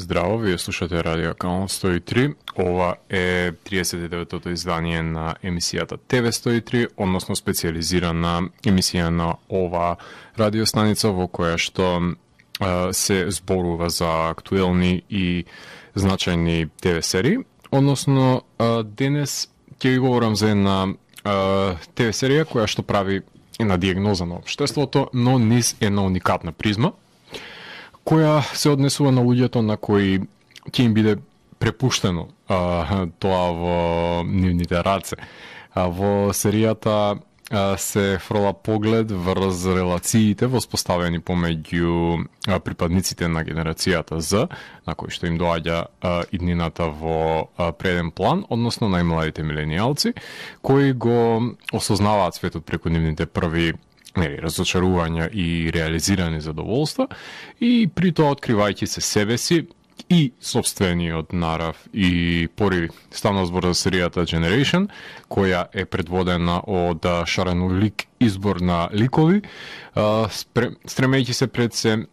Здраво, вие слушате Радио Канал 103. Ова е 39-тото издание на емисијата ТВ 103, односно специализирана емисија на ова радиостаница во која што се зборува за актуелни и значајни ТВ серии. Односно, денес ќе ви говорам за една ТВ серија која што прави една диагноза на општеството, но низ една уникатна призма, која се однесува на луѓето на кои ќе им биде препуштено тоа во нивните раце. Во серијата се фрла поглед врз релациите воспоставени помеѓу припадниците на генерацијата Z, на кои што им доаѓа иднината во преден план, односно најмладите миленијалци, кои го осознаваат светот преку нивните први разочарувања и реализирани задоволства, и при тоа откривајќи се себе си и собствениот нарав и пориви. Станува збор за серијата Generation, која е предводена од шаренолик избор на ликови, стремејќи се пред се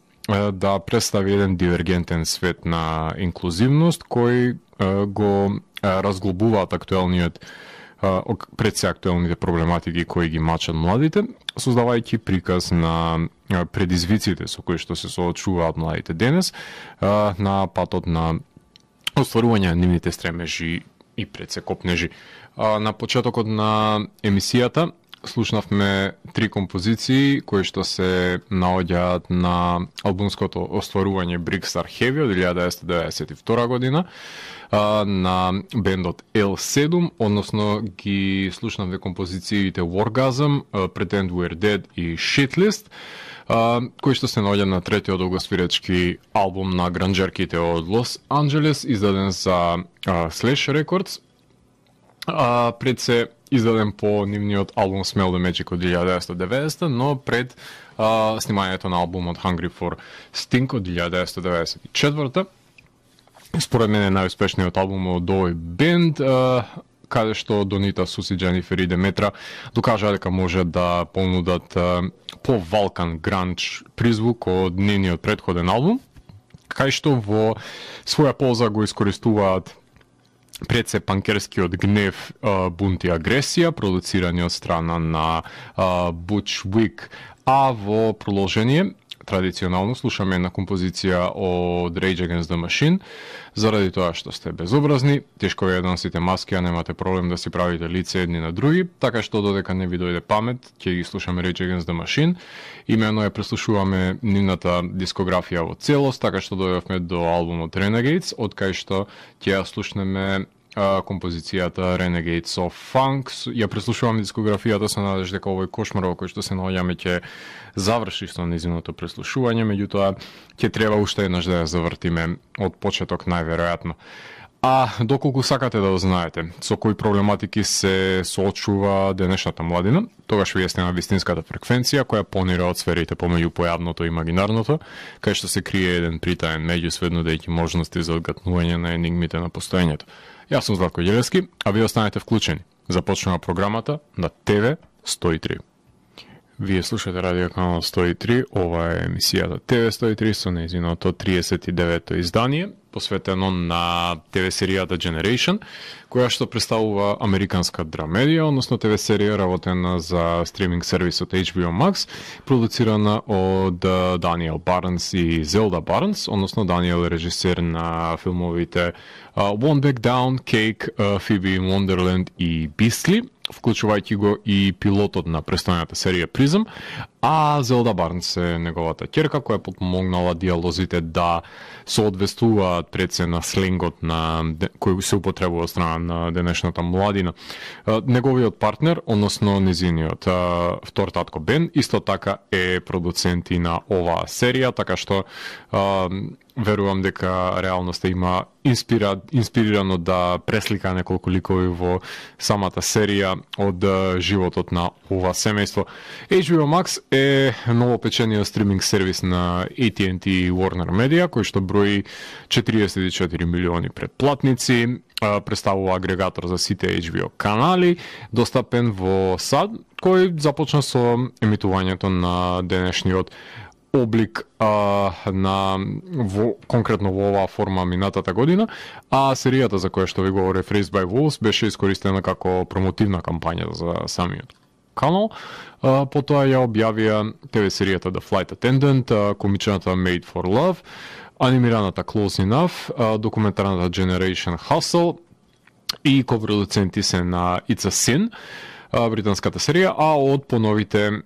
да представи еден дивергентен свет на инклузивност, кој го разглобуваат актуелниот пред се актуелните проблематики кои ги мачат младите, создавајќи приказ на предизвиците со кои што се соочуваат младите денес на патот на остварување на нивните стремежи и пред се копнежи. На почетокот на емисијата слушнавме 3 композиции кои што се наоѓаат на албумското остварување Big Star Heavy од 1992 година на бендот L7, односно ги слушнавме композициите Wargasm, Pretend We're Dead и Shitlist, кои што се наоѓа на третиот долгосвиречки албум на гранџерките од Лос Анџелес, издаден за Slash Records, пред се издаден по нивниот албум Smell the Magic од 1990, но пред снимањето на албумот Hungry for Stink од 1994. Според мене најуспешниот албум од овој бенд, каде што Донита, Суси, Дженифер и Деметра докажаа дека може да понудат по-валкан гранч призвук од нивниот претходен албум, кај што во своја полза го искористуваат пред се панкерскиот гнев, бунт и агресија, продуцирани од страна на Butch Vig, а во продолжение традиционално слушаме една композиција од Rage Against the Machine, заради тоа што сте безобразни, тешко ви ја носите маски, а немате проблем да си правите лице едни на други, така што додека не ви дојде памет, ќе ги слушаме Rage Against the Machine. Имено ја преслушуваме нивната дискографија во целост, така што дојдовме до албумот Renegades, од кај што ќе ја слушнеме композицијата Renegades of Funk. Ја преслушуваме дискографијата со надеж дека овој кошмар во кој што се наоѓаме ќе заврши со незиното преслушување, меѓутоа ќе треба уште еднаш да ја завртиме од почеток најверојатно. А доколку сакате да знаете со кои проблематики се соочува денешната младина, тогаш вие сте на вистинската фреквенција која понира од сферите помеѓу појавното и имагинарното, кај што се крие еден притаен меѓусвет нудејќи можности за одгатнување на енигмите на постоењето. Јас сум Златко Ѓелевски, а вие останете вклучени. Започнува програмата на ТВ 103. Вие слушате Радио Канал 103, ова е емисијата ТВ 103 со нејзиното 39-то издание, посветено на ТВ серијата Generation, која што представува американска драмедија, односно ТВ серија работена за стриминг сервисот HBO Max, продуцирана од Даниел Барнс и Зелда Барнс, односно Даниел е режисер на филмовите One Back Down, Cake, Phoebe in Wonderland и Beastly, вклучувајќи го и пилотот на престојната серија Prism, а Зелда Барнс е неговата ќерка која подпомогнала диалозите да соодветствуваат пред се на сленгот на кој се употребува од страна на денешната младина. Неговиот партнер, односно незиниот втор татко Бен, исто така е продуцент и на оваа серија, така што верувам дека реалноста има инспирирано да преслика неколку ликови во самата серија од животот на ова семејство. HBO Max е новопечениот стриминг сервис на AT&T и Warner Media, кој што брои 44 милиони претплатници, представува агрегатор за сите HBO канали, достапен во САД, кој започна со емитувањето на денешниот облик конкретно во оваа форма минатата година, а серијата за која што ви говори Raised by Wolves беше искористена како промотивна кампања за самиот канал. Потоа ја објавија ТВ серијата The Flight Attendant, комичната Made for Love, анимираната Close Enough, документарната Generation Hustle и ковпродуценти се на It's a Sin, британската серија, а од поновите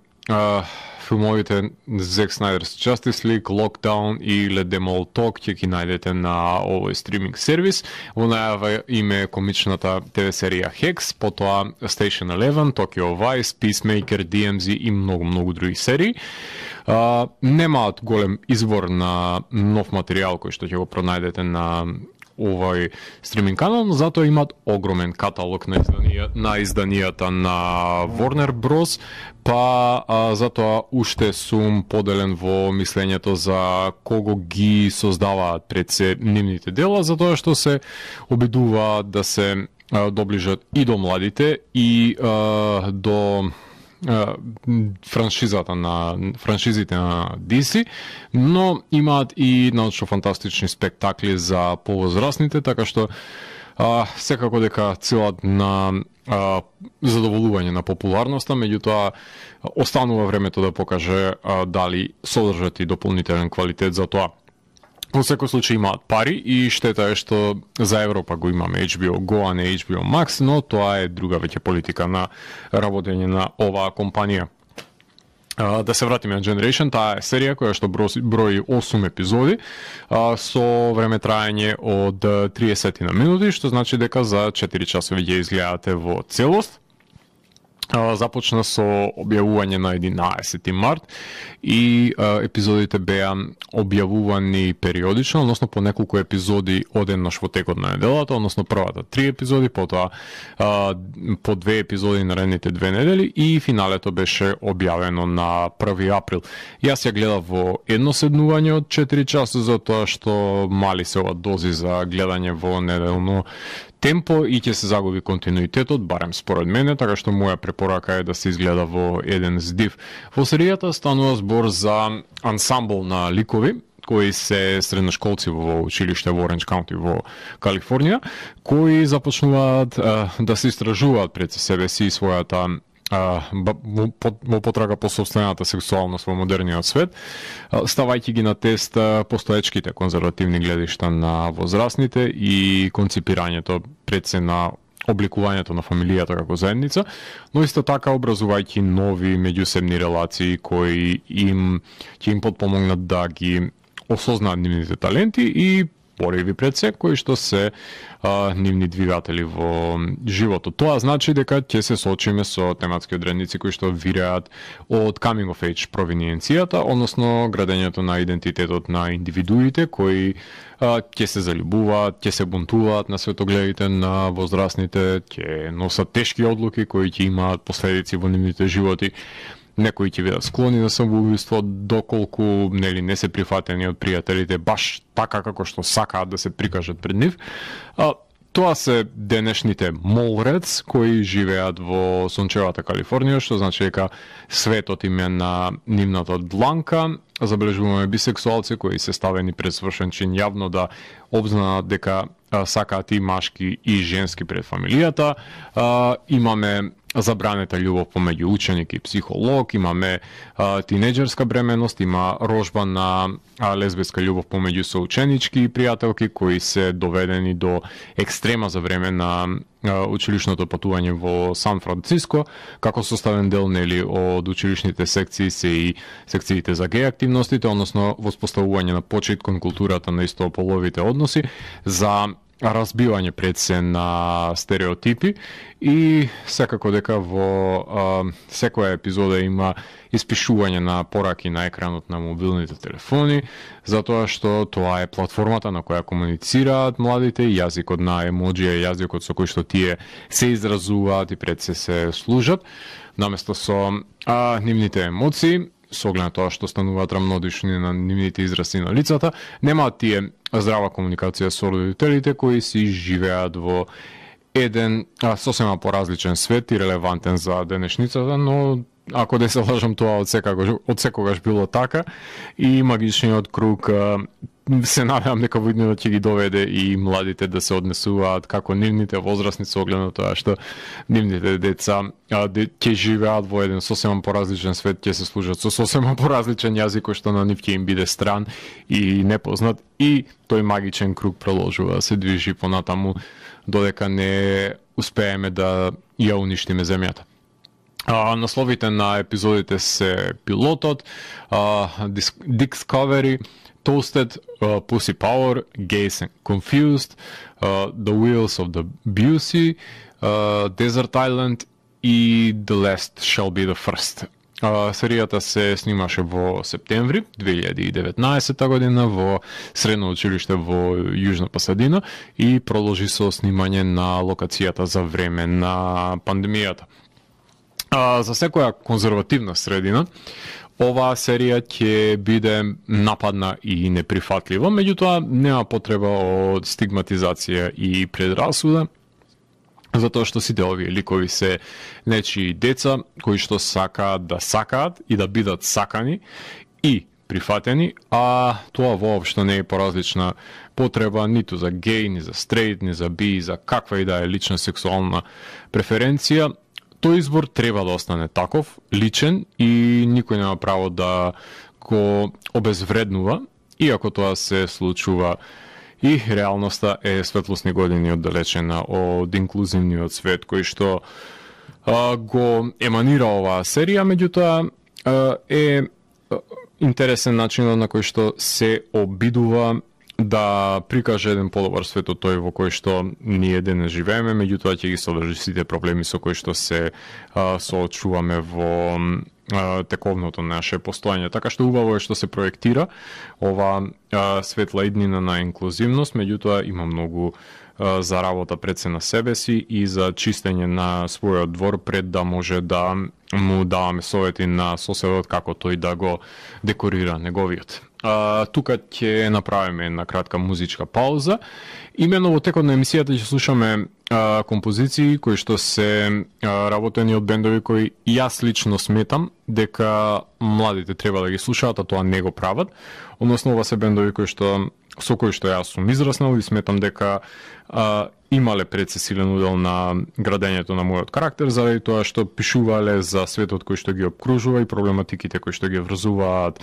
филмовите Zack Snyder's Justice League, Lockdown и Let Them All Talk ќе ги најдете на овој стриминг сервис. Во најава име комичната ТВ серија Hex, потоа Station 11, Tokyo Vice, Peacemaker, DMZ и многу други серии. Немаат голем избор на нов материјал кој што ќе го пронајдете на овој стриминг канал, но затоа имаат огромен каталог на изданијата на Warner Bros. Затоа уште сум поделен во мислењето за кого ги создаваат пред се нивните дела, затоа што се обидуваат да се доближат и до младите и до франшизите на DC, но имаат и научно-фантастични спектакли за повозрастните, така што секако дека целат на задоволување на популарноста, меѓутоа останува времето да покаже дали содржат и дополнителен квалитет за тоа. Во секој случај имаат пари и штета е што за Европа го имаме HBO Go, а не HBO Max, но тоа е друга веќе политика на работење на оваа компанија. Да се вратиме на Generation, таа е серија која што брои 8 епизоди со време траење од 30 на минути, што значи дека за 4 часови ќе изгледате во целост. Започна со објавување на 11 март и епизодите беа објавувани периодично, односно по неколку епизоди одеднаш во текот на неделата, односно првата 3 епизоди, потоа по 2 епизоди наредните 2 недели и финалето беше објавено на 1 април. Јас ја гледав во едно седнување од 4 часа, затоа што мали се ова дози за гледање во неделно темпо и ќе се загуби континуитетот, барем според мене, така што моја препорака е да се изгледа во еден здив. Во серијата станува збор за ансамбл на ликови, кои се средношколци во училиште во Оранџ Каунти во Калифорнија, кои започнуваат да се истражуваат пред себе си својата во потрага по собствената сексуалност во модерниот свет, ставајќи ги на тест постоечките конзервативни гледишта на возрастните и конципирањето пред се на обликувањето на фамилијата како заедница, но исто така образувајќи нови меѓусебни релации кои ќе им потпомогнат да ги осознаат нивните таленти и пориви пред се, кои што се нивни двигатели во животот. Тоа значи дека ќе се соочиме со тематски одредници кои што вираат од coming of age провиненцијата, односно градењето на идентитетот на индивидуите кои ќе се заљубуваат, ќе се бунтуваат на светогледите на возрастните, ќе носат тешки одлуки кои ќе имаат последици во нивните животи. Некои ќе бидат склони на самоубиство доколку не се прифатени од пријателите баш така како што сакаат да се прикажат пред нив. Тоа се денешните молрец кои живеат во сончевата Калифорнија, што значи дека светот им е на нивната дланка. Забележуваме бисексуалци кои се ставени пред свршен чин јавно да обзнаат дека сакаат и машки и женски пред фамилијата. Имаме забранета љубов помеѓу ученик и психолог, имаме тинеџерска бременост, има рожба на лесбиска љубов помеѓу соученички и пријателки кои се доведени до екстрема за време на училишното патување во Сан Франциско, како составен дел од училишните секции се и секциите за геј активностите, односно воспоставување на почит кон културата на истополовите односи, за разбивање пред се на стереотипи и секако дека во секоја епизода има испишување на пораки на екранот на мобилните телефони, затоа што тоа е платформата на која комуницираат младите, јазикот на емоџија, јазикот со кој што тие се изразуваат и пред се служат, наместо со нивните емоции, со оглед на тоа што стануваат рамнодишни на нивните изрази на лицата, немаат тие здрава комуникација со родителите кои си живеат во еден сосема поразличен свет и релевантен за денешницата, но ако не се лажам, тоа од секогаш било така, и магичниот круг се надевам дека во иднина ќе ги доведе и младите да се однесуваат како нивните возрастни со оглед на тоа што нивните деца ќе живеат во еден сосема поразличен свет, ќе се служат со сосема поразличен јазик кој што на нив ќе им биде стран и непознат, и тој магичен круг продолжува да се движи понатаму додека не успееме да ја уништиме земјата. Насловите на епизодите се Пилотот, Discovery, Toasted, Pussy Power, Gays and Confused, The Wheels of the Busey, Desert Island и The Last Shall Be the First. Серијата се снимаше во септември 2019 година во средно училиште во Јужна Пасадина и продолжи со снимање на локацијата за време на пандемијата. За секоја конзервативна средина, оваа серија ќе биде нападна и неприфатлива, меѓутоа нема потреба од стигматизација и предрасуда, затоа што сите овие ликови се нечии деца кои што сакаат и да бидат сакани и прифатени, а тоа воопшто не е поразлична потреба ниту за геј, ни за стрейт, ни за би, за каква и да е лична сексуална преференција. Тој избор треба да остане таков, личен, и никој нема право да го обезвреднува, иако тоа се случува и реалноста е светлосни години оддалечена од инклузивниот свет кој што го еманира оваа серија, меѓутоа е интересен начинот на кој што се обидува да прикаже еден подобар свет од тој во кој што ние денес живееме, меѓутоа ќе ги содржи сите проблеми со кои што се соочуваме во тековното наше постоење. Така што убаво е што се проектира ова светла иднина на инклузивност, меѓутоа има многу за работа пред се на себе си и за чистење на својот двор пред да може да му даваме совети на соседот како тој да го декорира неговиот. Тука ќе направиме една кратка музичка пауза. Имено во текот на емисијата ќе слушаме композиции кои што се работени од бендови кои јас лично сметам дека младите треба да ги слушаат, а тоа не го прават. Односно, ова се бендови кои што со кои што јас сум израснал и сметам дека имале пред се силен удел на градењето на мојот карактер, заради тоа што пишувале за светот кој што ги обкружува и проблематиките кои што ги врзуваат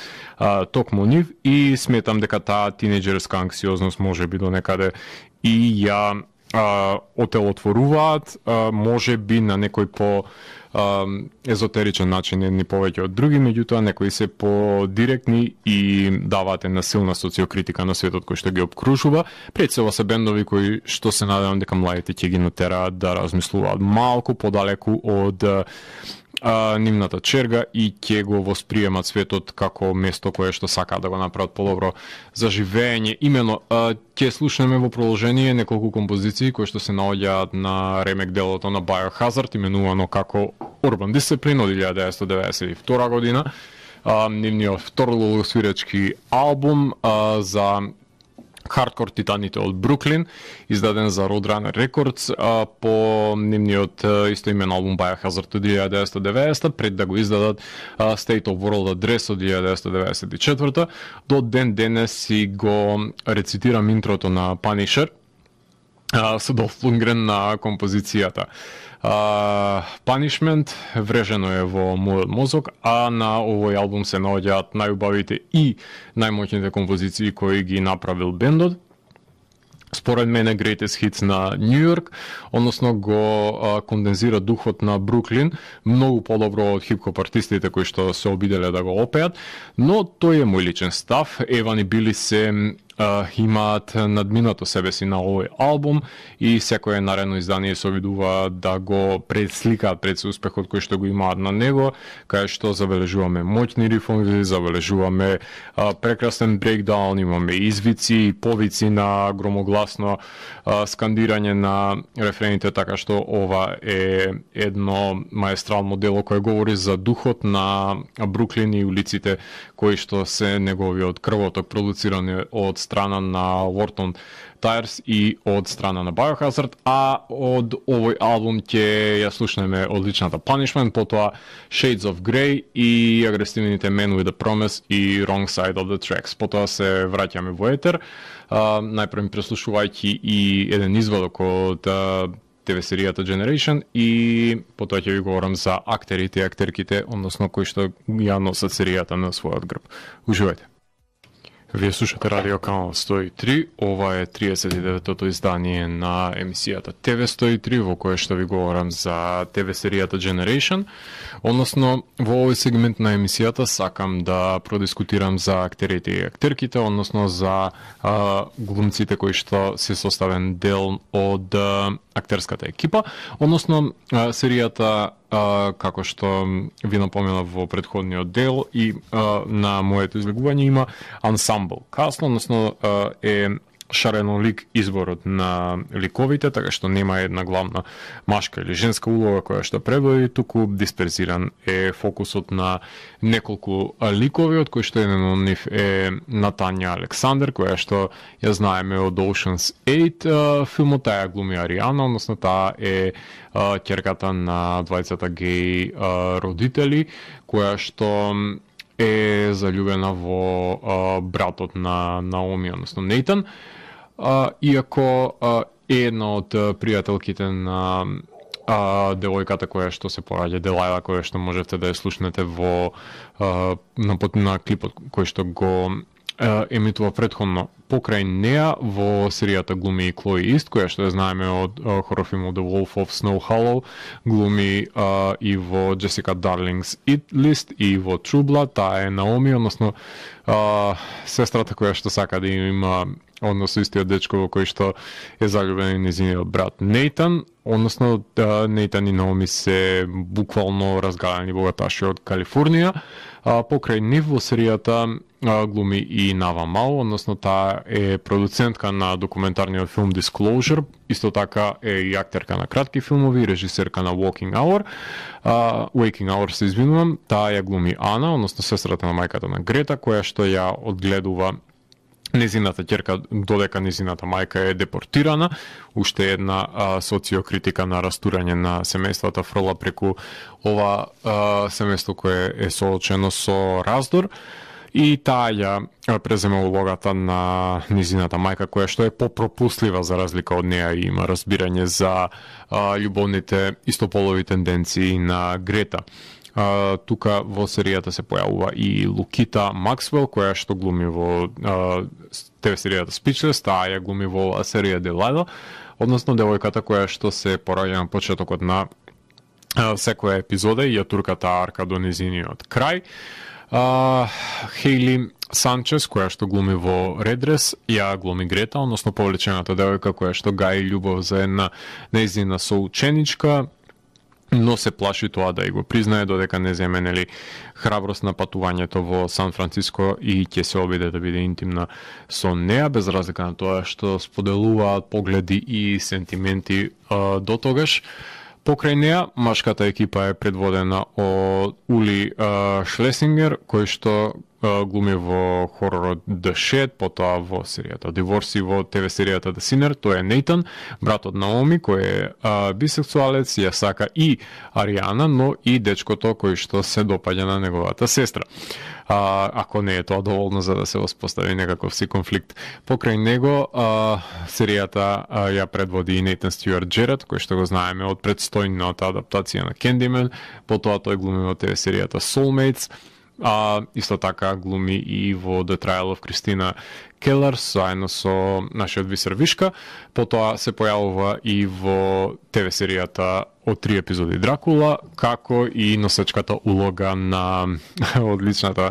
токму нив, и сметам дека таа тинеџерска анксиозност може би до некаде и ја отелотворуваат, може би на некој по езотеричен начин, едни повеќе од други, меѓутоа некои се по-директни и даваат една силна социокритика на светот кој што ги обкружува. Пред се ова се бендови кои што се надевам дека младите ќе ги натераат да размислуваат малку подалеку од нивната черга и ќе го восприемат светот како место кое што сакаат да го направат подобро за живење. Имено, ќе слушнеме во продолжение неколку композиции кои што се наоѓаат на ремек делото на Biohazard, именувано како Urban Discipline од 1992 година. Нивниот второсвирачки албум за хардкор титаните од Бруклин, издаден за Roadrunner Records по нивниот истоимен албум Biohazard од 1990, пред да го издадат State of World Address од 1994. До ден денес си го рецитирам интрото на Punisher со Долф Лундгрен на композицијата Punishment, врежено е во мојот мозок, а на овој албум се наоѓаат најубавите и најмоќните композиции кои ги направил бендот. Според мене Greatest Hits на Нью Йорк, односно го кондензира духот на Бруклин многу подобро од хип-хоп артистите кои што се обиделе да го опеат, но тој е мој личен став. Еван и Били се имаат надминато себе си на овој албум и секое наредно издание се обидува да го пресликаат пред се успехот кој што го имаат на него, кај што забележуваме моќни рифови, забележуваме прекрасен брейкдаун, имаме извици и повици на громогласно скандирање на рефрените, така што ова е едно маестрално дело кое говори за духот на Бруклин и улиците кои што се неговиот крвоток продуцирани од страна на Wharton Tires и од страна на Biohazard, а од овој албум ќе ја слушнеме одличната Punishment, потоа Shades of Grey и агресивните Men with a Promise и Wrong Side of the Tracks. Потоа се враќаме во етер, најпрво преслушувајќи и еден извадок од ТВ серијата Generation и потоа ќе ви говорам за актерите и актерките, односно кои што ја носат серијата на својот грб. Уживајте. Вие слушате Радио Канал 103, ова е 39-тото издание на емисијата ТВ 103, во кое што ви говорам за ТВ серијата Generation, односно во овој сегмент на емисијата сакам да продискутирам за актерите и актерките, односно за глумците кои што се составен дел од актерската екипа, односно серијата како што ви напоменав во претходниот дел и на моето излегување има ensemble cast, односно е шаренолик изборот на ликовите, така што нема една главна машка или женска улога која што предводи, туку дисперзиран е фокусот на неколку ликови, од кои што еден од нив е Натања Александер, која што ја знаеме од Ocean's 8 филмот, таа глуми Ариана, односно таа е ќерката на двајцата геј родители, која што е заљубена во братот на Наоми, односно Нейтан, иако е една од пријателките на девојката која што се пораѓа, Делајла, која што можете да ја слушнете во на клипот кој што го емитува претходно. Покрај неа во серијата глуми и Клои Ист, која што ја знаеме од хорор-филмот The Wolf of Snow Hollow, глуми и во Джесика Дарлингс It List и во True Blood, таа е Наоми, односно сестрата која што сака да има однос со истиот дечко во кој што е заљубен и нејзиниот брат Нейтан, односно Нейтан и Наоми се буквално разгалени богаташи од Калифорнија. Покрај нив во серијата глуми и Нава Мал, односно таа е продуцентка на документарниот филм Disclosure, исто така е и актерка на кратки филмови, режисерка на Waking Hour, се извинувам, таа ја глуми Ана, односно сестрата на мајката на Грета, која што ја одгледува незината ќерка додека незината мајка е депортирана. Уште една социокритика на растурање на семејствата фрла преку ова семејство кое е соочено со раздор. И таа ја презема улогата на низината мајка, која што е попропуслива за разлика од неа и има разбирање за љубовните истополови тенденции на Грета. Тука во серијата се појавува и Лукита Максвел, која што глуми во ТВ серијата Speechless, таа ја глуми во серија Делајла, односно девојката која што се пораѓа на почетокот на секоја епизода и ја турката арка до низиниот крај. Хейли Санчес, која што глуми во Редрес, ја глуми Грета, односно повлечената девојка која што гаи љубов за една нејзина соученичка, но се плаши тоа да ја го признае додека не земе храброст на патувањето во Сан Франциско и ќе се обиде да биде интимна со неа, без разлика на тоа што споделуваат погледи и сентименти до тогаш. Покрај неа, машката екипа е предводена од Ули Шлесингер, кој што глуми во хоророт The Shed, потоа во серијата Divorce и во ТВ серијата The Sinner. Тој е Нейтан, братот Наоми, кој е бисексуалец, ја сака и Ариана, но и дечкото кој што се допаѓа на неговата сестра. Ако не е тоа доволно за да се воспостави некаков си конфликт. Покрај него, серијата ја предводи и Нейтан Стюарт Джеред, кој што го знаеме од предстојната адаптација на Candyman, потоа тој глуми во ТВ серијата Soulmates, исто така глуми и во The Trial of Christina Keller заедно со нашиот Висер Вишка, потоа се појавува и во ТВ серијата од 3 епизоди Дракула, како и носечката улога на одличната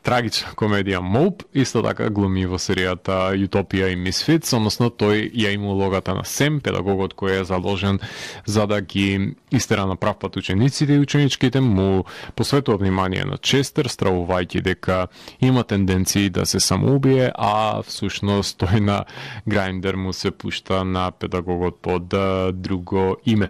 трагична комедија Моуп, исто така глуми во серијата Утопија и Misfits, односно тој ја има улогата на Сем, педагогот кој е задолжен за да ги истера на прав пат учениците и ученичките, му посветува внимание на Честер, стравувајќи дека има тенденции да се самоубие, а всушност тој на Грајндер му се пушта на педагогот под друго име.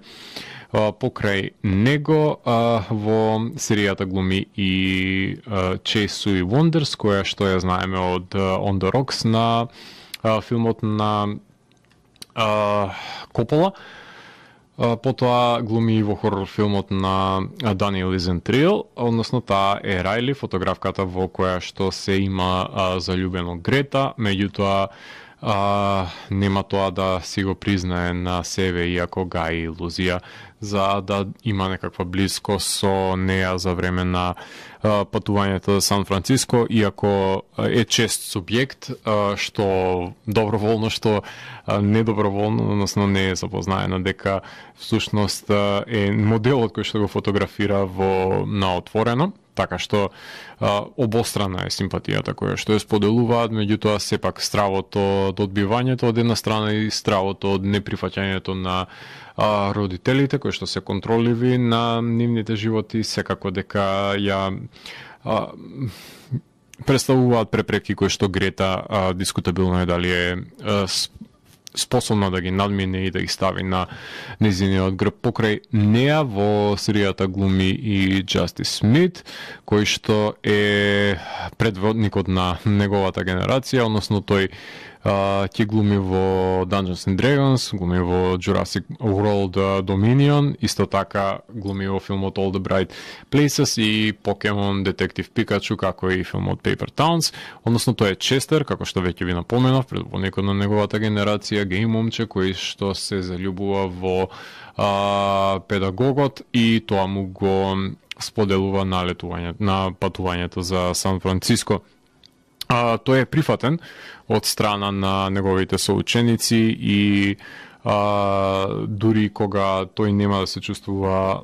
Покрај него во серијата глуми и Chase Sue Wonders, која што ја знаеме од On the Rocks на филмот на Копола. Потоа глуми во хорор филмот на Daniel Isn't Real, односно таа е Рајли, фотографката во која што се има заљубено Грета, меѓутоа нема тоа да си го признае на себе, иако гаи илузија за да има некаква близко со неа за време на патувањето за Сан Франциско, иако е чест субјект, што доброволно, што недоброволно, односно не е запознаена дека всушност е моделот кој што го фотографира на отворено, така што обострана е симпатијата која што ја споделуваат, меѓутоа сепак стравото од одбивањето од една страна и стравото од неприфаќањето на родителите кои што се контроливи на нивните животи, секако дека ја представуваат препреки кои што Грета дискутабилно е дали е способна да ги надмине и да ги стави на незиниот грб. Покрај неа во серијата глуми и Justice Smith, кој што е предводникот на неговата генерација, односно тој ќе глуми во Dungeons and Dragons, глуми во Jurassic World Dominion, исто така глуми во филмот All the Bright Places и Pokemon Detective Pikachu, како и филмот Paper Towns, односно тој е Честер, како што веќе ви напоменав, предводникот на неговата генерација, геј момче кој што се заљубува во педагогот и тоа му го споделува на патувањето за Сан Франциско. Тој е прифатен од страна на неговите соученици и дури кога тој нема да се чувствува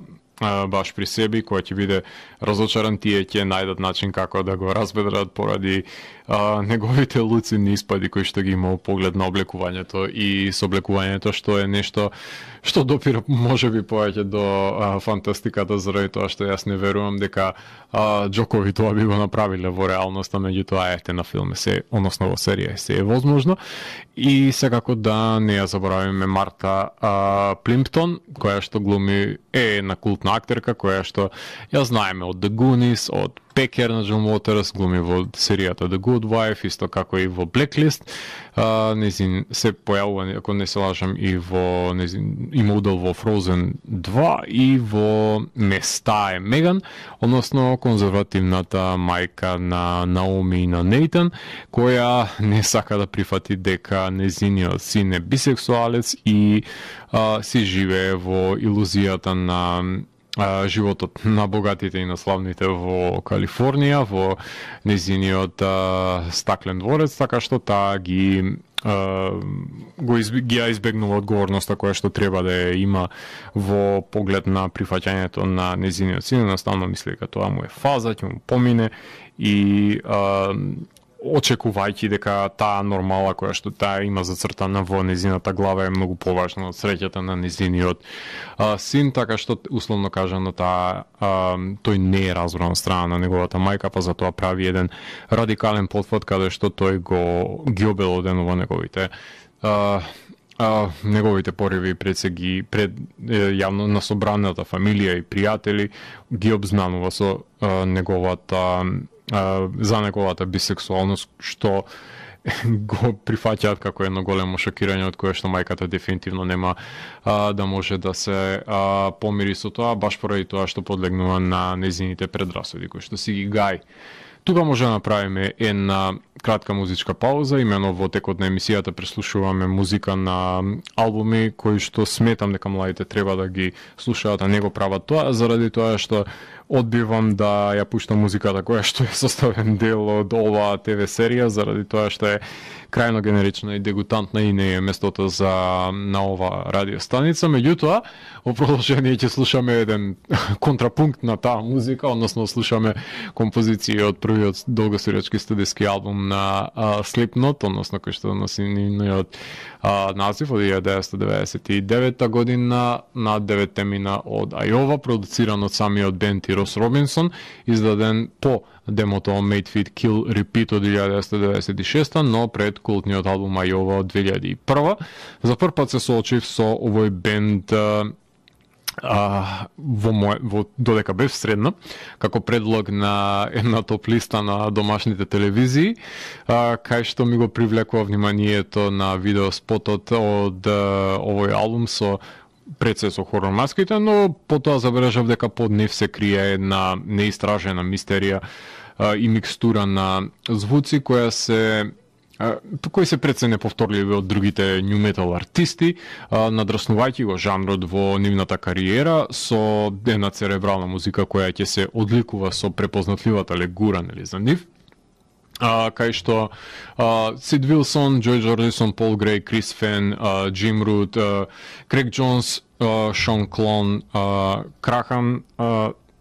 баш при себе, која ќе биде разочаран, тие ќе најдат начин како да го разбедрат поради неговите луцидни испади кои што ги имал поглед на облекувањето и соблекувањето, што е нешто што допира можеби повеќе до фантастиката, заради тоа што јас не верувам дека Џокови тоа би го направиле во реалноста, меѓутоа ете на филме се, односно во серија се е возможно. И секако да не ја заборавиме Марта Плимптон, која што глуми е една култна актерка, која што ја знаеме од The Goonies, од Пекер на Джон Уотерс, глуми во серијата The Good Wife, исто како и во Blacklist. Незин се појавува, ако не се лажам, и во има удел во Frozen 2 и во Места е Меган, односно конзервативната мајка на Наоми и на Нейтан, која не сака да прифати дека незиниот син е бисексуалец и си живее во илузијата на животот на богатите и на славните во Калифорнија, во незиниот стаклен дворец, така што таа ги ја избегнува одговорноста која што треба да ја има во поглед на прифаќањето на незиниот син. Наставно мисли дека тоа му е фаза, ќе му помине и очекувајќи дека таа нормала која што таа има зацртана во незината глава е многу поважна од среќата на незиниот син, така што условно кажано тој не е разбран од страна на неговата мајка, па затоа прави еден радикален потфат каде што тој ги обелоденува неговите пориви пред јавно на собраната фамилија и пријатели, ги обзнанува со за неговата бисексуалност, што го прифаќаат како едно големо шокирање од кое што мајката дефинитивно нема да може да се помири со тоа, баш поради тоа што подлегнува на незините предрасуди кои што си ги гаи. Тука може да направиме една кратка музичка пауза, имено во текот на емисијата преслушуваме музика на албуми кои што сметам дека младите треба да ги слушаат, а не го прават тоа, заради тоа што одбивам да ја пуштам музиката која што е составен дел од оваа ТВ серија, заради тоа што е крајно генерична и дегутантна и не е местото на ова радиостаница. Меѓутоа, во продолжение ќе слушаме еден контрапункт на таа музика, односно слушаме композиции од првиот долгосирачки студиски албум на Slipknot, односно кој што носи нивниот назив од 1999 година на 9 темина од Айова, продуциран од самиот бенд и Рос Робинсон, издаден по демото Made Fit Kill Repeat од 1996, но пред култниот албум Айова од 2001. За прв пат се соочив со овој бенд додека бев средна, како предлог на една топ листа на домашните телевизии, кај што ми го привлекува вниманието на видеоспотот од овој албум пред се со хорор маските, но потоа забележав дека под нив се крие една неистражена мистерија и микстура на звуци кои се пред се неповторливи од другите ню метал артисти, надраснувајќи го жанрот во нивната кариера со една церебрална музика која ќе се одликува со препознатливата легура, нели, за нив. Кај што Сид Вилсон, Джој Джордисон, Пол Греј, Крис Фен, Джим Рут, Крейг Джонс, Шон Клон, Крахан,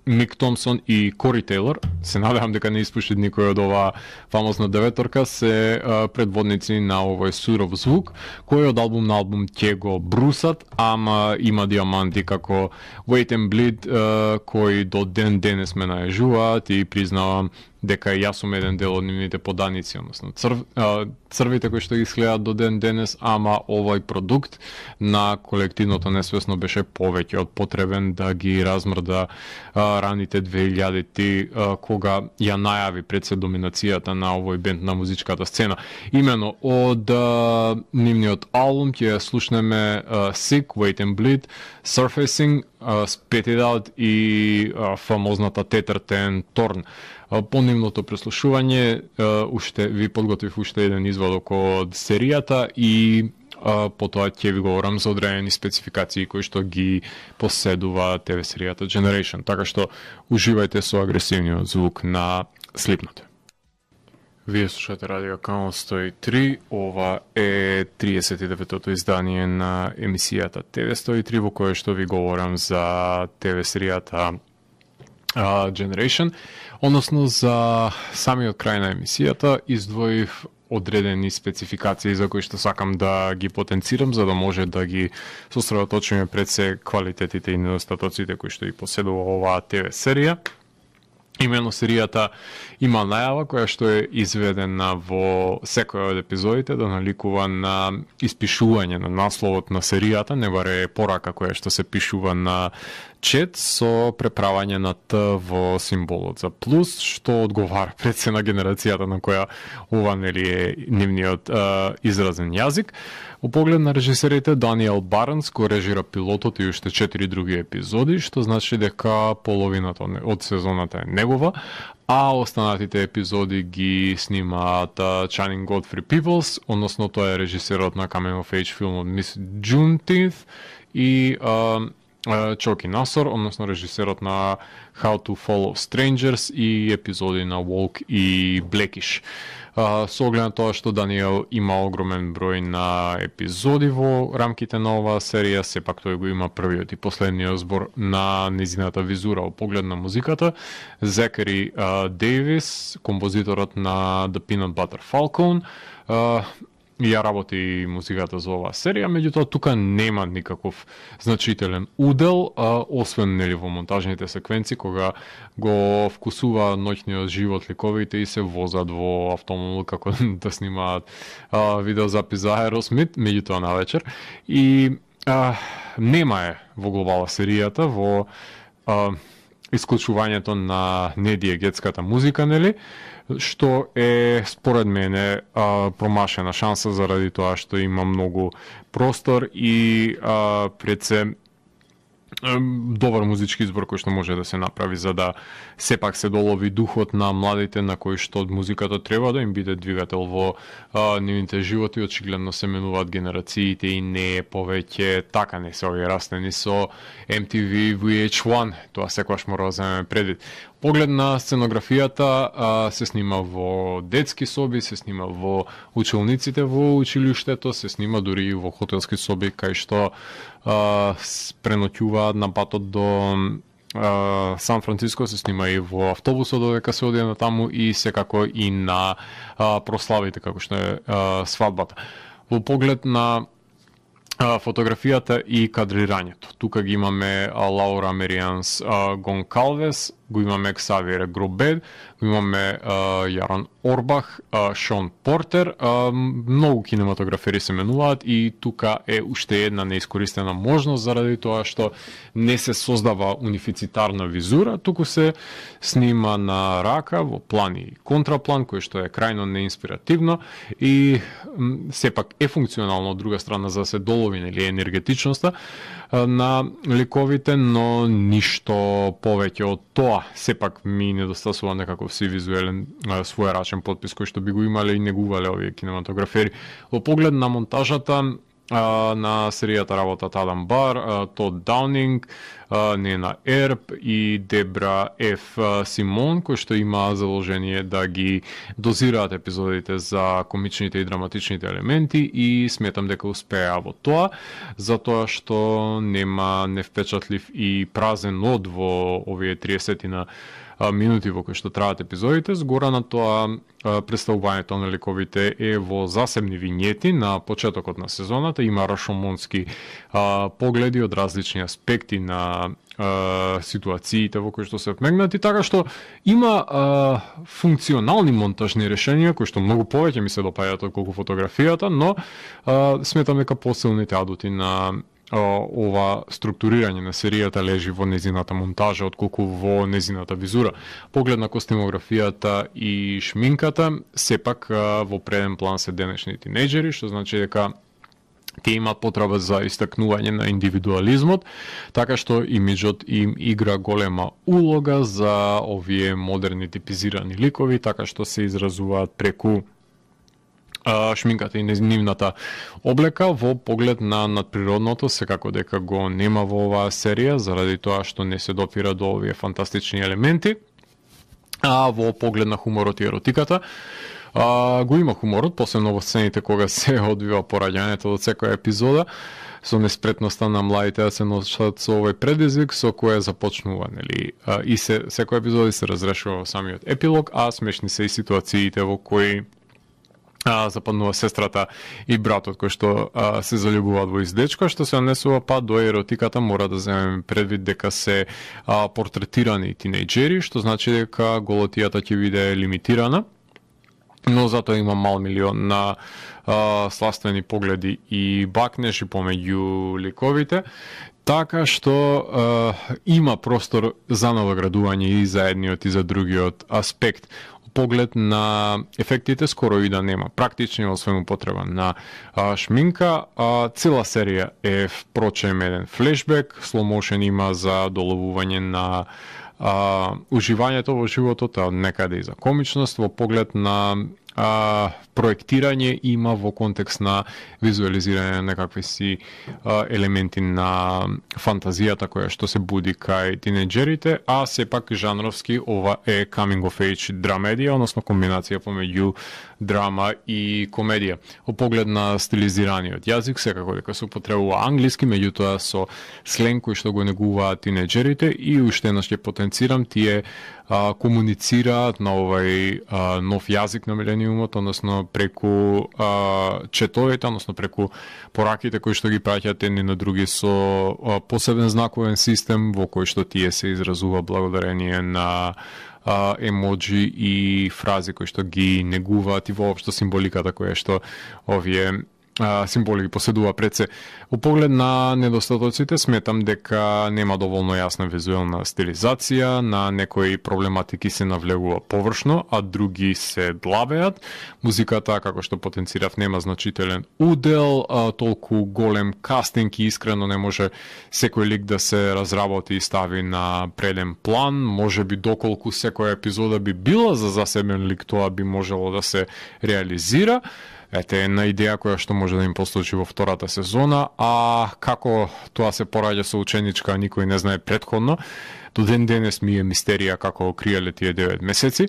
Мик Томсон и Кори Тейлор, се надевам дека не испушти никој од оваа фамозна деветорка, се предводници на овој суров звук, кој од албум на албум ќе го брусат, ама има диаманти како Wait and Bleed, кои до ден денес ме најажуваат и признавам дека јас сум еден дел од нивните поданици, односно црвите кои што ги следат до ден денес, ама овој продукт на колективното несвесно беше повеќе од потребен да ги размрда раните 2000-ти, кога ја најави пред се доминацијата на овој бенд на музичката сцена. Имено од нивниот албум ќе слушнеме Sick, Wait and Bleed, Surfacing, Spit It Out и фамозната Tether 10 Torn. По нивното преслушување уште ви подготвив уште еден извадок од серијата и потоа ќе ви говорам за одредени спецификации кои што ги поседува ТВ серијата Generation, така што уживајте со агресивниот звук на Slipknot. Вие слушате Радио Канал 103, ова е 39-тото издание на емисијата ТВ 103, во кое што ви говорам за ТВ серијата Generation, односно за самиот крај на емисијата издвоив одредени спецификации за кои што сакам да ги потенцирам, за да може да ги сосредоточиме пред се квалитетите и недостатоците кои што и поседува оваа ТВ серија. Имено серијата има најава која што е изведена во секој од епизодите да наликува на испишување на насловот на серијата, не баре порака која што се пишува на чет со преправање на Т во символот за плюс, што одговара пред се на генерацијата на која ова нели е нивниот изразен јазик. Во поглед на режисерите, Даниел Барнс кој режира пилотот и уште 4 други епизоди, што значи дека половината од сезоната е негова, а останатите епизоди ги снимаат Channing Godfrey Peoples, односно тој е режисерот на Coming of Age филмот Miss Juneteenth и Чоки Насор, односно режисерот на How to Follow Strangers и епизоди на Walk и Blackish. Со оглед на тоа што Даниел има огромен број на епизоди во рамките на оваа серија, сепак тој го има првиот и последниот збор на незината визура во поглед на музиката. Зекари Дейвис, композиторот на The Peanut Butter Falcon, ја работи музиката за оваа серија, меѓутоа тука нема никаков значителен удел, освен нели во монтажните секвенци кога го вкусува ноќниот живот ликовите и се возат во автомобил како да снимаат видеозапис за Aerosmith, меѓутоа на вечер. И нема е во глобала серијата, во исклучувањето на недиегетската музика, нели? Што е според мене промашена шанса заради тоа што има многу простор и пред се добар музички избор кој што може да се направи за да сепак се долови духот на младите на кои што музиката треба да им биде двигател во нивните животи. Очигледно се менуваат генерациите и не е повеќе така, не се овие растени со MTV VH1, тоа секогаш мора да земеме предвид. Поглед на сценографијата се снима во детски соби, се снима во училниците во училиштето, се снима дури и во хотелски соби кај што преноќуваат на патот до Сан Франциско, се снима и во автобусот додека се оди на таму и секако и на прославите како што е свадбата. Во поглед на фотографијата и кадрирањето. Тука ги имаме Лаура Мерианс Гонкалвес, го имаме Ксавиер Гробед, го имаме Јарон Орбах, Шон Портер, многу кинематографери се менуваат и тука е уште една неискористена можност заради тоа што не се создава унифицитарна визура, туку се снима на рака во план и контраплан, кој што е крајно неинспиративно и сепак е функционално од друга страна за да се долови нели енергетичноста на ликовите, но ништо повеќе од тоа. Сепак ми недостасува некаков си визуелен своерачен потпис кој што би го имале и негувале овие кинематографери. Во поглед на монтажата на серијата работат Адам Бар, Тод Даунинг, Нена Ерб и Дебра Ф. Симон, кои што има заложение да ги дозираат епизодите за комичните и драматичните елементи и сметам дека успеа во тоа, затоа што нема невпечатлив и празен од во овие 30 минути во кои што траат епизодите. Згора на тоа, представувањето на ликовите е во засебни вињети на почетокот на сезоната. Има рашомонски погледи од различни аспекти на ситуациите во кои што се вмегнати, така што има функционални монтажни решенија кои што многу повеќе ми се допаѓаат отколку фотографијата, но сметам дека посилните адути на ова структурирање на серијата лежи во незината монтажа отколку во незината визура. Поглед на костимографијата и шминката, сепак во преден план се денешни тинејџери, што значи дека тие имаат потреба за истакнување на индивидуализмот, така што имиджот им игра голема улога за овие модерни типизирани ликови, така што се изразуваат преку шминката и нивната облека. Во поглед на надприродното, секако дека го нема во оваа серија, заради тоа што не се допира до овие фантастични елементи. А во поглед на хуморот и еротиката, го има хуморот, посебно во сцените кога се одвива пораѓањето од секоја епизода, со неспретноста на младите да се носат со овој предизвик со кој започнува, нели? И секој епизод се разрешува во самиот епилог, а смешни се и ситуациите во кои западнува сестрата и братот кој што се заљубуваат во издечко, што се однесува па до еротиката. Мора да земеме предвид дека се портретирани тинејџери, што значи дека голотијата ќе биде лимитирана, но затоа има мал милион на сластвени погледи и бакнеши помеѓу ликовите, така што има простор за навоградување и за едниот и за другиот аспект. Поглед на ефектите скоро и да нема. Практични освен употреба на шминка. Цела серија е впрочем еден флешбек, слоумошен има за доловување на уживањето во животот, а некаде и за комичност. Во поглед на проектирање има во контекст на визуализирање на некакви си елементи на фантазијата која што се буди кај тинејџерите, а сепак жанровски ова е coming of age драмедија, односно комбинација помеѓу драма и комедија. Во поглед на стилизираниот јазик, секако дека се употребува англиски, меѓутоа со сленг кој што го негуваат тинејџерите и уште еднаш ќе потенцирам, тие комуницираат на овај нов јазик на милениумот, односно преку четовите, односно преку пораките кои што ги праќаат едни на други со посебен знаковен систем во кој што тие се изразува благодарение на емоджи и фрази кои што ги негуваат и воопшто символиката која што овие символи ги поседува пред се. Во поглед на недостатоците, сметам дека нема доволно јасна визуелна стилизација, на некои проблематики се навлегува површно, а други се длабеат. Музиката, како што потенцирав, нема значителен удел, толку голем кастинг и искрено не може секој лик да се разработи и стави на преден план. Може би доколку секоја епизода би била за засебен лик, тоа би можело да се реализира. Ете една идеја која што може да им послужи во втората сезона, а како тоа се пораѓа со ученичка, никој не знае претходно. До ден денес ми е мистерија како криеле тие 9 месеци.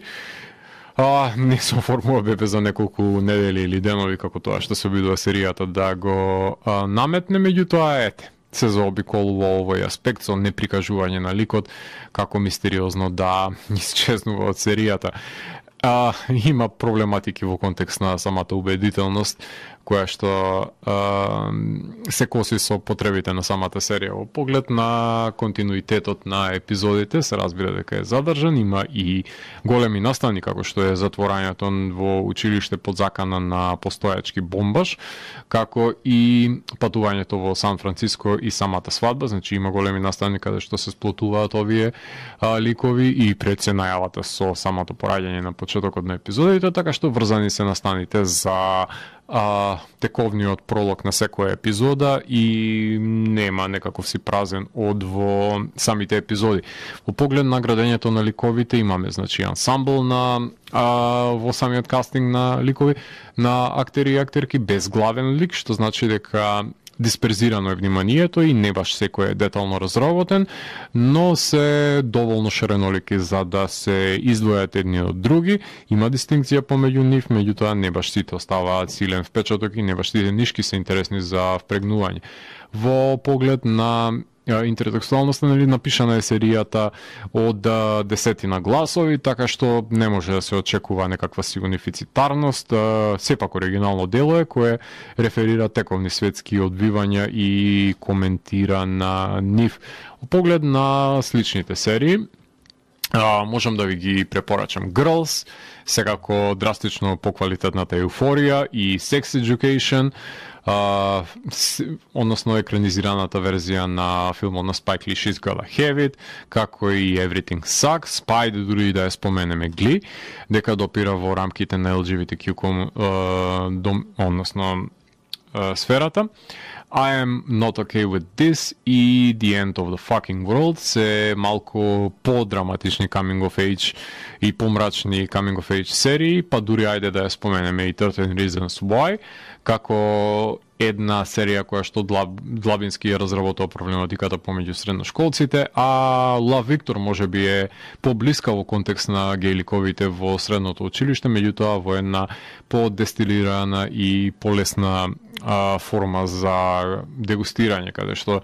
Не се оформува бебе за неколку недели или денови, како тоа што се обидува серијата да го наметне, меѓутоа ете, се заобиколува овој аспект со неприкажување на ликот, како мистериозно да исчезнува од серијата. Има проблематики во контекст на самата убедителност, која што се коси со потребите на самата серија. Во поглед на континуитетот на епизодите се разбира дека е задржан, има и големи настани како што е затворањето во училиште под закана на постојачки бомбаш, како и патувањето во Сан Франциско и самата свадба, значи има големи настани каде што се сплотуваат овие ликови и пред се најавата со самото пораѓање на почетокот на епизодите, така што врзани се настаните за тековниот пролог на секоја епизода и нема некаков си празен од во самите епизоди. Во поглед на градењето на ликовите имаме значи ансамбл на во самиот кастинг на ликови, на актери и актерки без главен лик, што значи дека дисперзирано е вниманието и не баш секој е детално разработен, но се доволно ширенолики за да се издвојат едни од други. Има дистинкција помеѓу нив, меѓутоа не баш сите оставаат силен впечаток и не баш сите нишки се интересни за впрегнување. Во поглед на интертекстуалноста, нели, напишана е серијата од десетина гласови, така што не може да се очекува некаква сигунифицитарност. Сепак оригинално дело е кое реферира тековни светски одбивања и коментира на нив. Во поглед на сличните серии, можам да ви ги препорачам Girls, секако драстично поквалитетната Еуфорија и Sex Education, односно екранизираната верзија на филмот на Spike Lee She's Gotta Have It, како и Everything Sucks, па и дури да ја споменеме Glee, дека допира во рамките на LGBTQ односно сферата. I am not okay with this и The End of the Fucking World се малку по-драматични coming of age и помрачни coming of age серии, па дури ајде да ја споменеме и 13 Reasons Why, како една серија која што длабински ја разработува проблематиката помеѓу средношколците, а Love Victor може би е поблиска во контекст на гейликовите во средното училиште, меѓутоа во една подестилирана и полесна форма за дегустирање, каде што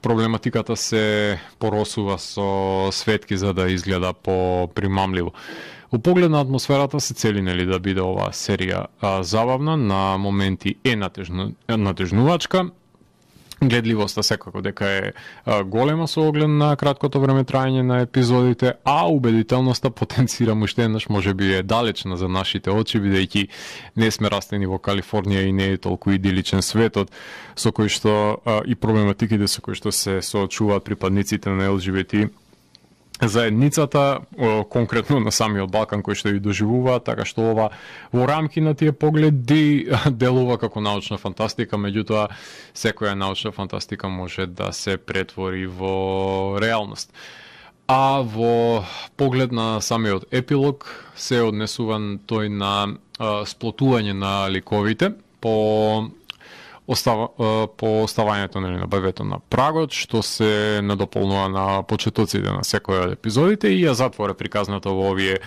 проблематиката се поросува со светки за да изгледа попримамливо. Во поглед на атмосферата се цели нели да биде оваа серија забавна, на моменти е натежнувачка. Гледливоста секако дека е голема со оглед на краткото време трајање на епизодите, а убедителноста потенцирам уште еднаш можеби е далечна за нашите очи, бидејќи не сме растени во Калифорнија и не е толку идиличен светот со кој што и проблематиките со кои што се соочуваат припадниците на ЛГБТ заедницата, конкретно на самиот Балкан кој што ја доживува, така што ова во рамки на тие погледи делува како научна фантастика, меѓутоа секоја научна фантастика може да се претвори во реалност. А во поглед на самиот епилог се однесуван тој на сплотување на ликовите по оставањето на бебето на прагот, што се надополнува на почетоците на секој од епизодите и ја затвора приказната во овие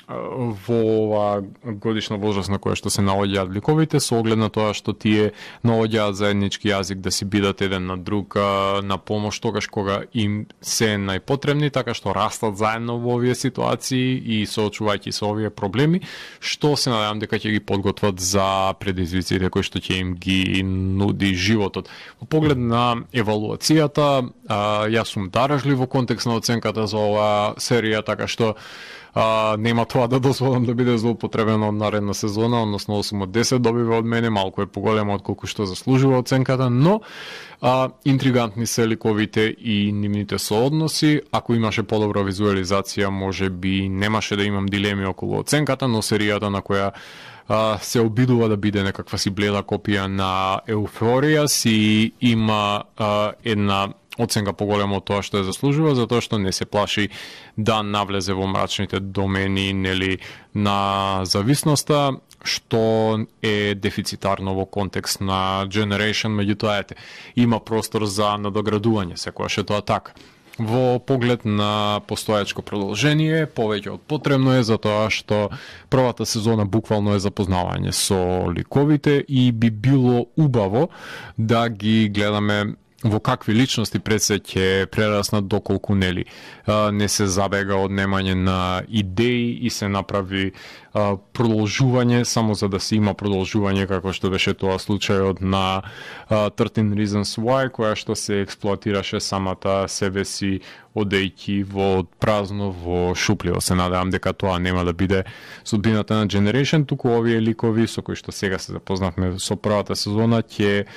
во ова годишна возраст на која што се наоѓаат ликовите, со оглед на тоа што тие наоѓаат заеднички јазик да си бидат еден на друг на помош тогаш кога им се најпотребни, така што растат заедно во овие ситуации и соочувајќи се овие проблеми, што се надевам дека ќе ги подготват за предизвиците кои што ќе им ги нуди животот. Во поглед на евалуацијата, јас сум даражлив во контекст на оценката за оваа серија, така што нема тоа да дозволам да биде злоупотребено од наредна сезона, односно 8 од 10 добива од мене, малку е поголема од колку што заслужува оценката, но интригантни се ликовите и нивните соодноси. Ако имаше подобра визуализација, може би немаше да имам дилеми околу оценката, но серијата на која се обидува да биде некаква си бледа копија на Еуфорија си има една оценка поголема од тоа што ја заслужува, затоа што не се плаши да навлезе во мрачните домени нели на зависноста, што е дефицитарно во контекст на Generation, меѓутоа има простор за надоградување, секогаш е тоа така. Во поглед на постојачко продолжение, повеќе од потребно е затоа што првата сезона буквално е запознавање со ликовите и би било убаво да ги гледаме во какви личности пред се ќе прераснат доколку нели не се забега од немање на идеи и се направи продолжување само за да се има продолжување, како што беше тоа случајот на 13 Reasons Why, која што се експлоатираше самата себе си, одејќи во празно, во шупливо. Се надевам дека тоа нема да биде судбината на Generation, туку овие ликови со кои што сега се запознавме со првата сезона ќе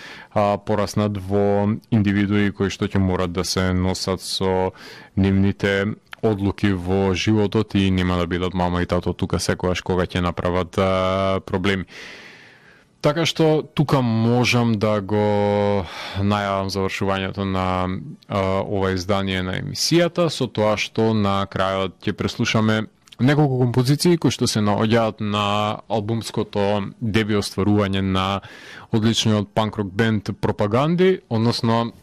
пораснат во индивидуи кои што ќе морат да се носат со нивните одлуки во животот и нема да бидат мама и тато тука секогаш кога ќе направат проблеми. Така што тука можам да го најавам завршувањето на ова издание на емисијата, со тоа што на крајот ќе преслушаме неколку композиции кои што се наоѓаат на албумското деби остварување на одличниот панк-рок бенд Пропаганди, односно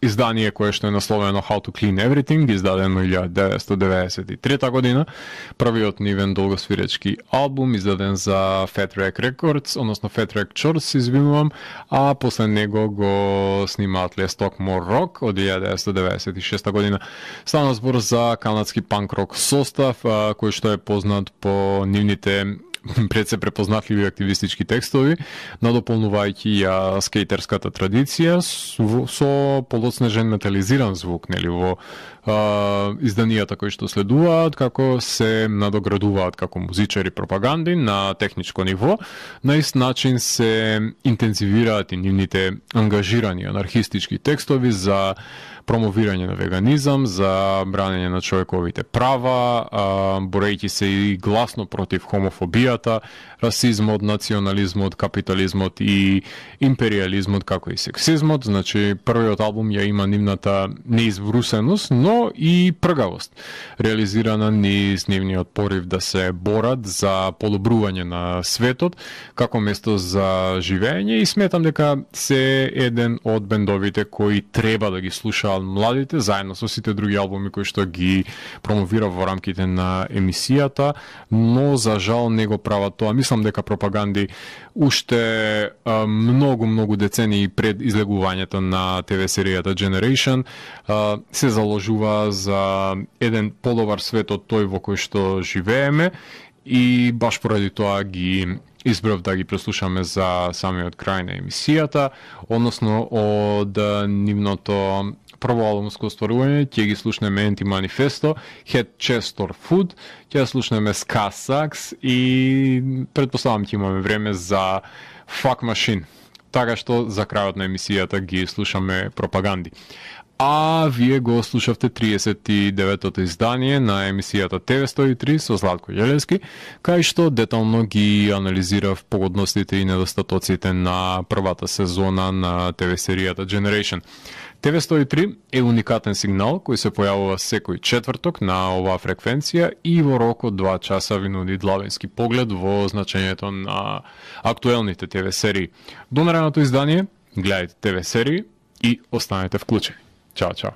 издание кое што е насловено How to Clean Everything, издадено 1993 година, првиот нивен долгосвиречки албум, издаден за Fat Wreck Records, односно Fat Wreck Chords, извинувам, а после него го снимаат Les Talk More Rock од 1996 година. Стана збор за канадски панк-рок состав, кој што е познат по нивните пред се препознатливи активистички текстови, надополнувајќи ја скејтерската традиција со полоснежен метализиран звук, нели, во изданијата кои што следуваат, како се надоградуваат како музичари Пропаганди на техничко ниво. На ист начин се интензивираат и нивните ангажирани анархистички текстови за промовирање на веганизам, за бранење на човековите права, борејќи се и гласно против хомофобијата, расизмот, национализмот, капитализмот и империализмот, како и сексизмот. Значи, првиот албум ја има нивната неизврусеност, но и пргавост, реализирана низ нивниот порив да се борат за подобрување на светот како место за живење, и сметам дека се еден од бендовите кои треба да ги слушаат младите, заедно со сите други албуми кои што ги промовира во рамките на емисијата, но за жал не го прават тоа. Мислам дека Пропаганди уште многу децении пред излегувањето на ТВ серијата Generation се заложува за еден подобар свет од тој во кој што живееме, и баш поради тоа ги избрав да ги преслушаме за самиот крај на емисијата, односно од нивното прво албумско остварување ќе ги слушнеме Anti-Manifesto, Head Chest or Food, ќе слушнеме Ska Sucks и предпоставам ќе имаме време за Fuck Machine. Така што за крајот на емисијата ги слушаме Пропаганди. А вие го слушавте 39-тото издание на емисијата TV103 со Златко Јелевски, кај што детално ги анализирав погодностите и недостатоците на првата сезона на ТВ серијата Generation. TV103 е уникатен сигнал кој се појавува секој четврток на оваа фреквенција и во рок од 2 часа ви нуди длабенски поглед во значењето на актуелните ТВ серии. До наредното издание, гледајте ТВ серии и останете вклучени. Чао, чао.